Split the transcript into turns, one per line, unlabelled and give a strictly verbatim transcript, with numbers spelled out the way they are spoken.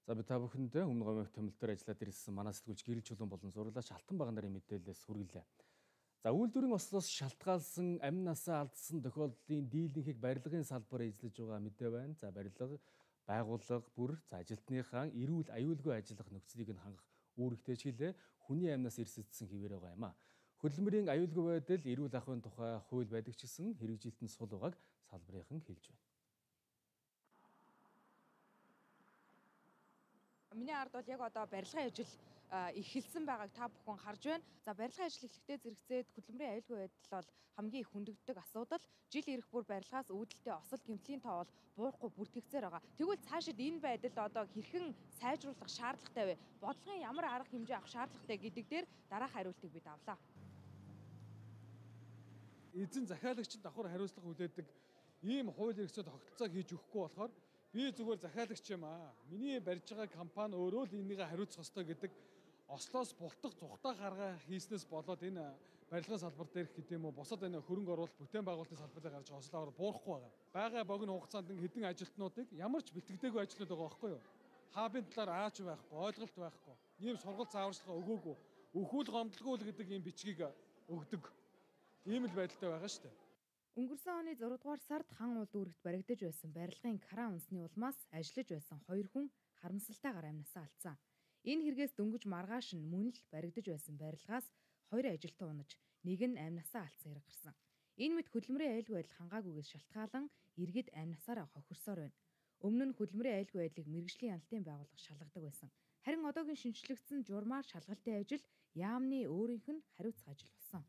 За би та бүхэндээ өмнө гомьёо томил дээр ажиллаад ирсэн манай сэтгүүлч Гэрэл Чулуун болон зурлаач Алтан баган нарын мэдээлэлээс хүргэлээ. За үйлдвэрийн ослоос шалтгаалсан амин насаа алдсан тохиолдлын дийлэнхийг барилгын салбар эзлэж байгаа мэдээ байна. За барилга, байгууллага бүр за ажилтныхаа эрүүл аюулгүй ажиллах нөхцөлийг нь хангах үүрэгтэй ч гэлээ хүний амнаас эрсэлдсэн хэвээр байгаа юм а. Хөдөлмөрийн аюулгүй байдал эрүүл ахуйн тухай хууль байдаг ч гэсэн хэрэгжилтэн сул байгааг салбарынхан хэлж байна.
Миний ард бол яг одоо барилгын ажил эхэлсэн байгааг та бүхэн харж байна. За барилгын ажил эхлэхдээ зэрэгцээд хөдөлмөрийн аюулгүй байдал бол хамгийн их хүндэгддэг асуудал. Жил ирэх бүр барилгаас үүдэлтэй осол гэмтлийн тоо бол буурахгүй бүртгэгцээр байгаа. Тэгвэл цаашид энэ байдал одоо хэрхэн сайжруулах шаардлагатай вэ? Бодлогын ямар арга хэмжээ авах шаардлагатай гэдэг дээр дараах хариултыг бид авлаа.
Эзэн захиалагчид давхар хариуцлага хүлээдэг ийм хууль эрхцээ тогтолцоог хийж өгөхгүй болохоор би зүгээр захиалагч юм аа. Миний барьж байгаа компани өөрөө л энийгээ хариуцах ёстой гэдэг ослоос бултах зүхтаа гаргаа хийснээс болоод энэ барилгын салбар дээрх гэдэг юм уу бусад энэ хөрөнгө оруулалт бүтээн байгуулалтын салбарыг гарч ослоор буурахгүй байгаа. Бага богино хугацаанд хэдэн ажилтнуудыг ямар ч бэлтгэдэггүй ажлууд байгаа байхгүй юу? Хаабын талаар аач байхгүй, ойлголт байхгүй. Ийм сургалт зааварчилгаа өгөөгүй. Өхүүл гомдлгүй л гэдэг ийм бичгийг өгдөг. Ийм л байдалтай байгаа шүү дээ.
Өнгөрсөн оны зургаадугаар сард хан улд үүрэгт баригдаж байсан барилгын кран унсны улмаас ажиллаж байсан хоёр хүн харамсалтайгаар амнасаа алдсан. Энэ хэрэгээс дөнгөж маргааш нь мөн л баригдаж байсан барилгаас хоёр ажилтан унаж, нэг нь амнасаа алдсан хэрэг гарсан. Энэ мэд хөдөлмөрийн аюулгүй байдал хангаагүйгээс шалтгаалan иргэд амнасаараа хохирсоор байна. Өмнө нь хөдөлмөрийн аюулгүй байдлыг мэргэжлийн хяналтын байгууллага шалгадаг байсан. Харин одоогийн шинжлэгдсэн журмаар шалгалтын ажил яамны өөрийнх нь хариуцах ажил болсон.